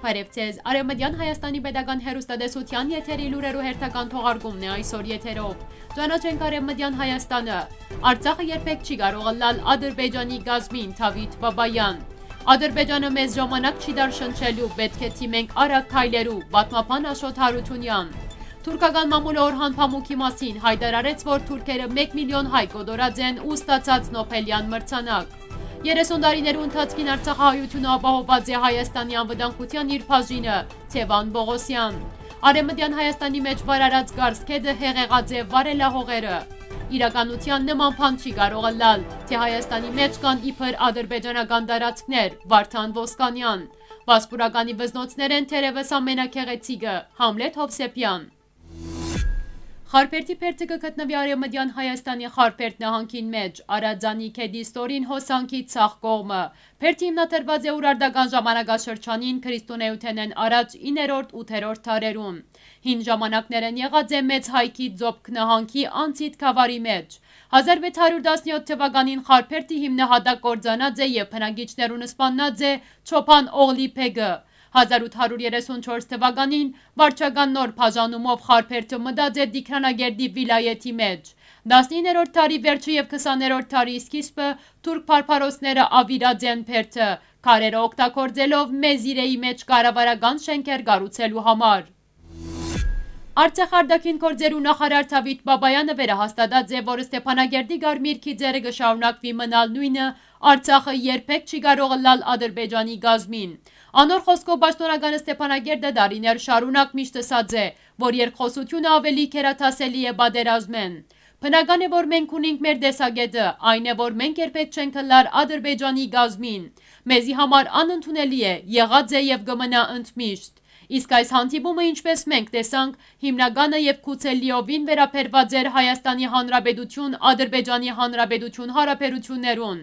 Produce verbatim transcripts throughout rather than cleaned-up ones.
Բարեւ ձեզ։ Արեւմտեան Հայաստանի պետական հեռուստատեսութեան եթերի լուրերու հերթական թողարկումն է այսօր եթերով։ Ճանաչենք Արեւմտեան Հայաստանը։ Արցախը երբեք չի կարող ըլլալ Ադրբեջանի կազմին, Դավիթ Բաբայան։ Ադրբեջանը մեզ ժամանակ չի տար շնչելու, պէտք է դիմենք արագ քայլերու, պատմաբան Աշոտ Յարութիւնեան։ Թուրքական մամուլը Օրհան Փամուկի մասին յայտարարեց, որ թուրքերը մէկ միլիոն հայ կոտորած են ու ստացած Նոբելեան մրցանակ։ Երեսուն տարիներու ընթացքին արցախահայութիւնը ապահովուած է Հայաստանի անվտանգութեան իր բաժինը, Թեւան Պողոսեան։ Արեւմտեան Հայաստանի մէջ վարարած Կարս գետը հեղեղած է վարելահողերը։ Իրականութեան նման բան չի կարող ըլլալ, թէ Հայաստանի մէջ կան իբր ադրբեջանական տարածքներ, Վարդան Ոսկանեան։ Վասպուրականի վզնոցներ են թերեւս ամենագեղեցիկը, Համլետ Հովսեփեան։ Խարբերդի բերդը կը գտնուի Արեւմտեան Հայաստանի Խարբերդ նահանգին մէջ, Արածանի գետի ստորին հոսանքի ցախ կողմը։ Բերդը հիմնադրուած է Ուրարտական ժամանակաշրջանին քրիստոնէութենէն առաջ իններորդ, ութերորդ դարերուն։ Հին ժամանակներէն եղած է Մեծ Հայքի Ձոբք նահանգի անցիդ գաւառի մէջ։ Հազար վեց հարիւր տասնեօթ թուականին Խարբերդի հիմնահատակ կործանած է եւ բնակիչներուն սպաննած է Չոփան Օղլի բեգը։ Հազար ութ հարիւր երեսուն չորս թուականին վարչական նոր բաժանումով Խարբերդը մտած է Տիգրանագերդի վիլայեթի մէջ։ Տասնիններորդ դարի վերջը եւ քսաներորդ դարի սկիզբը թուրք բարբարոսները աւիրած են բերդը, քարերը օգտագործելով Մեզիրեի մէջ կառավարական շենքեր կառուցելու համար։ Արցախ արտաքին գործերու նախարար Դավիթ Բաբայանը վերահաստատած է, որ Ստեփանագերդի Կարմիր գիծերը կը շարունակուի մնալ նոյնը, Արցախը երբեք չի կարող ըլլալ Ադրբեջանի կազմին։ Անոր խօսքով պաշտօնական Ստեփանագերդը տարիներ շարունակ միշտ ըսած է, որ երկխօսութիւնը աւելի գերադասելի է պատերազմէն։ Բնական է, որ մենք ունինք մեր տեսակէտը, այն է, որ մենք երբեք չենք ըլլար Ադրբեջանի կազմին։ Մեզի համար անընդունելի է, եղած է եւ կը մնայ ընդմիշտ։ Իսկ այս հանդիպումը, ինչպես մենք տեսանք, հիմնականը եւ գուցե լիովին վերաբերված էր Հայաստանի Հանրապետություն, Ադրբեջանի Հանրապետություն հարաբերութիւններուն։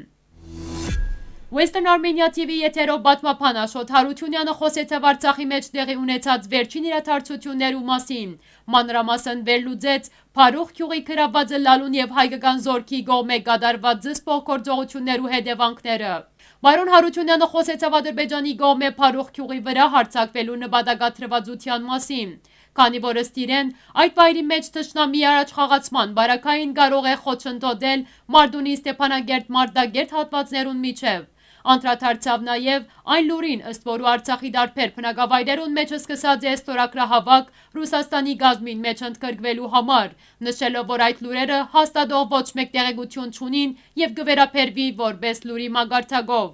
Western Armenia T V եթերով պատմաբան Աշոտ Յարութիւնեանը խօսեցաւ Արցախի մէջ տեղի ունեցած վերջին իրադարձութիւններու մասին, մանրամասն վերլուծեց Փարուխ գիւղի գրաւուած ըլլալուն եւ հայկական զօրքի կողմէ կատարուած զսպող գործողութիւններու հետեւանքները։ Պարոն Յարութիւնեանը խօսեցաւ Ադրբեջանի կողմէ Փարուխ գիւղի վրայ յարձակուելու նպատակադրուածութեան մասին, քանի որ ըստ իրեն, այդ վայրի մէջ թշնամիի առաջխաղացման պարագային կարող է խոչընդոտել Մարտունի Ստեփանագերդ Մարտակերտ հատուածներուն միջեւ։ Անդրադարձաւ նաեւ այն լուրին, ըստ որու Արցախի տարբեր բնակավայրերուն մէջ սկսած է ստորագրահաւաք Ռուսաստանի կազմին մէջ ընդգրկուելու համար, նշելով, որ այդ լուրերը հաստատող ոչ մէկ տեղեկութիւն չունին եւ կը վերաբերուի որպէս լուրի մակարդակով։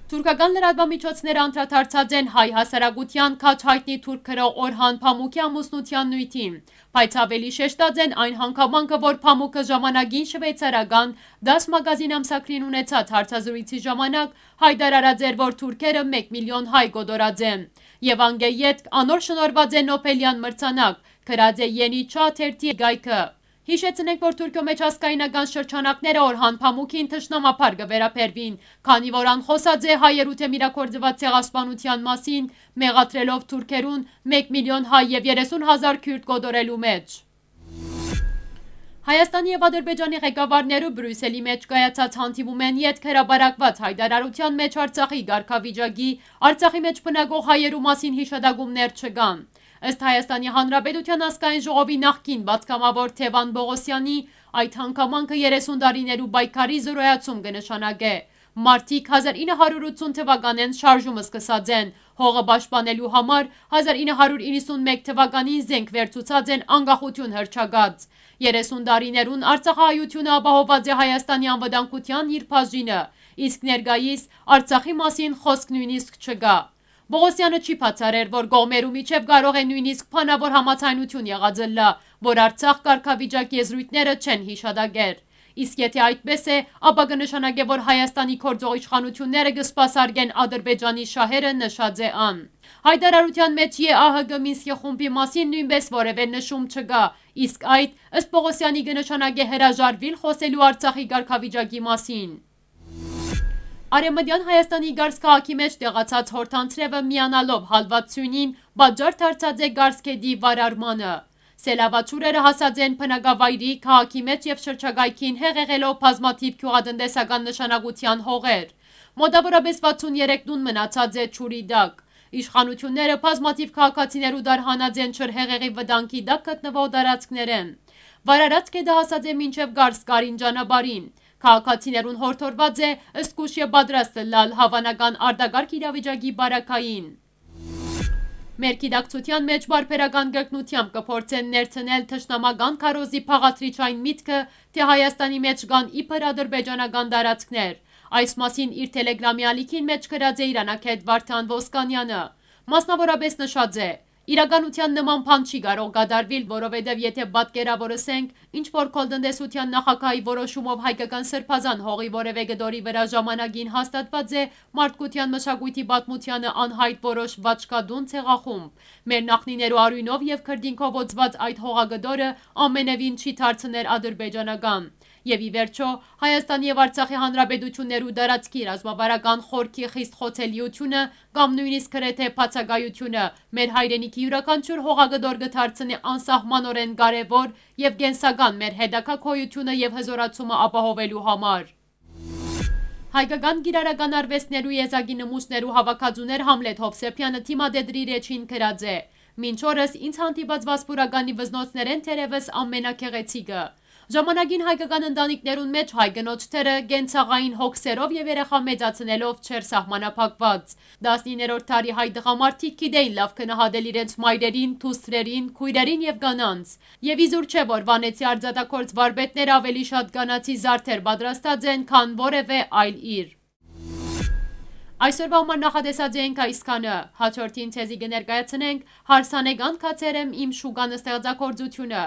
Թուրքական լրատուամիջոցները անդրադարձած են հայ հասարակութեան քաջ յայտնի թուրք գրող Օրհան Փամուկի ամուսնութեան նիւթին, բայց աւելի շեշտած են այն հանգամանքը, որ Փամուկը ժամանակին շուեյցարական դաս մագազին ամսագրին ունեցած հարցազրոյցի ժամանակ յայտարարած էր, որ թուրքերը մէկ միլիոն հայ կոտորած են, եւ անկէ ետք անոր շնորհուած է Նոբելեան մրցանակ, գրած է Յենի Չա թերթի կայքը։ Յիշեցնենք, որ Թուրքիոյ մէջ ազգայնական շրջանակները Օրհան Փամուկին թշնամաբար կը վերաբերուին, քանի որ ան խօսած է հայերու դէմ իրագործուած ցեղասպանութեան մասին, մեղադրելով թուրքերուն մէկ միլիոն հայ եւ երեսուն հազար քիւրտ կոտորելու մէջ։ Հայաստանի եւ Ադրբեջանի ղեկավարները Բրիուսելի մէջ կայացած հանդիպումէն ետք հրապարակուած յայտարարութեան մէջ Արցախի կարգավիճակի, Արցախի մէջ բնակող հայերու մասին յիշատակումներ չկան։ Ըստ Հայաստանի Հանրապետութեան ազգային ժողովի նախկին պատգամաւոր Թեւան Պողոսեանի, այդ հանգամանքը երեսուն տարիներու պայքարի զրոյացում կը նշանակէ։ Մարդիկ հազար ինը հարիւր ութսուն թուականէն շարժումը սկսած են, հողը պաշտպանելու համար հազար ինը հարիւր իննսուն մէկ թուականին զենք վերցուցած են անկախութիւն հռչակած։ Երեսուն տարիներուն արցախահայութիւնը ապահովուած է Հայաստանի անվտանգութեան իր բաժինը, իսկ ներկայիս Արցախի մասին խօսք նոյնիսկ չկայ։ Պողոսեանը չի բացառեր, որ կողմերու միջեւ կարող է նոյնիսկ բանաւոր համաձայնութիւն եղած ըլլայ, որ Արցախ կարգավիճակ եզրոյթները չեն յիշատակեր։ Իսկ եթէ այդպես է, ապա կը նշանակէ, որ Հայաստանի գործող իշխանութիւնները կը սպասարկեն Ադրբեջանի շահերը, նշած է ան։ Յայտարարութեան մէջ Ե Ա Հ Կ Մինսկի խումբի մասին նոյնպէս որեւէ նշում չկայ, իսկ այդ, ըստ Պողոսեանի, կը նշանակէ հրաժարուիլ խօսելու Արցախի կարգավիճակի մասին։ Արեւմտեան Հայաստանի Կարս քաղաքի մէջ տեղացած Հորթանցրեւը միանալով հալուած սիւնին պատճառ դարձած է Կարս գետի վարարմանը։ Սելավաչուրերը հասած են բնակավայրի, քաղաքի մէջ եւ շրջակայքին, հեղեղելով բազմաթիւ գիւղատնտեսական նշանակութեան հողեր։ Մօտաւորապէս վաթսուն երեք տուն մնացած է ջուրի տակ։ Իշխանութիւնները բազմաթիւ քաղաքացիներու դարհանած են ջրհեղեղի վտանգի տակ գտնուող տարածքներէն։ Վարարած կետը հասած է մինչեւ Կարս Կարին ճանապարհին։ Քաղաքացիներուն յորդորուած է զգոյշ եւ պատրաստ ըլլալ հաւանական արտակարգ իրավիճակի պարագային։ Մեր գիտակցութեան մէջ պարբերական կրկնութեամբ կը փորձեն ներդնել թշնամական քարոզի բաղադրիչ այն միտքը, թէ Հայաստանի մէջ կան իբր ադրբեջանական տարածքներ։ Այս մասին իր Telegram-ի ալիքին մէջ գրած է Իրան ագէտ Վարդան Ոսկանյանը։ Մասնաւորապէս նշած է. «Իրականութեան նման բան չի կարող կատարուիլ, որովհետեւ եթէ պատկերաւորենք, ինչ որ քոլտնտեսութեան նախագահի որոշումով հայկական սրբազան հողի որեւէ կտորի վրայ ժամանակին հաստատուած է մարդկութեան մշակոյթի պատմութեանը անյայտ որոշ վաչկատուն ցեղախումբ։ Մեր նախնիներու արիւնով եւ քրտինքով օծուած այդ հողակտորը ամենեւին չի դարձներ ադրբեջանական։ Եւ ի վերջոյ, Հայաստանի եւ Արցախի հանրապետութիւններու տարածքի ռազմավարական խորքի խիստ խոցելիութիւնը կամ նոյնիսկ գրեթէ բացակայութիւնը մեր հայրենիքի իւրաքանչիւր հողակտոր կը դարձնէ անսահմանօրէն կարեւոր եւ կենսական մեր հետագայ գոյութիւնը եւ հզօրացումը ապահովելու համար»։ Հայկական կիրառական արուեստներու եզակի նմուշներու հաւաքածուներ Համլետ Հովսեփեանը դիմատետրի Էջին գրած է. «Մինչ օրս ինձ հանդիպած Վասպուրականի վզնոցներէն թերեւս ամենագեղեցիկը։ Ժամանակին հայկական ընտանիքներուն մէջ հայ կնոջ դերը կենցաղային հոգսերով եւ երեխայ մեծացնելով չէր սահմանափակուած։ Տասնիններորդ դարի հայ տղամարդիկ գիտէին լաւ գնահատել իրենց մայրերին, դուստրերին, քոյրերին եւ կանանց։ Եւ իզուր չէ, որ Վանեցի արձանագործ վարպետները աւելի շատ կանացի զարդեր պատրաստած են, քան որեւէ այլ իրմ»։ Այսօրվա համար նախատեսած ենք այսքանը։ Հաջորդին ձեզի կը ներկայացնենք «Հարսանեկան գացեր եմ իմ շուկան» ստեղծագործութիւնը։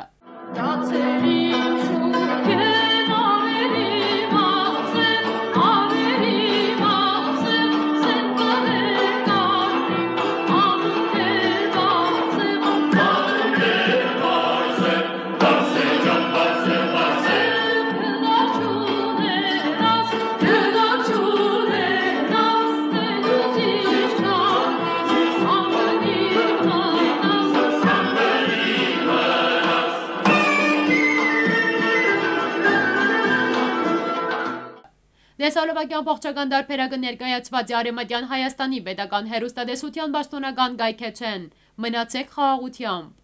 Տեսալովակի ամբողջական տարբերակը ներկայացուած է Արեւմտեան Հայաստանի պետական հեռուստատեսութեան պաշտօնական կայքէջէն։ Մնացեք խաղաղութեամբ։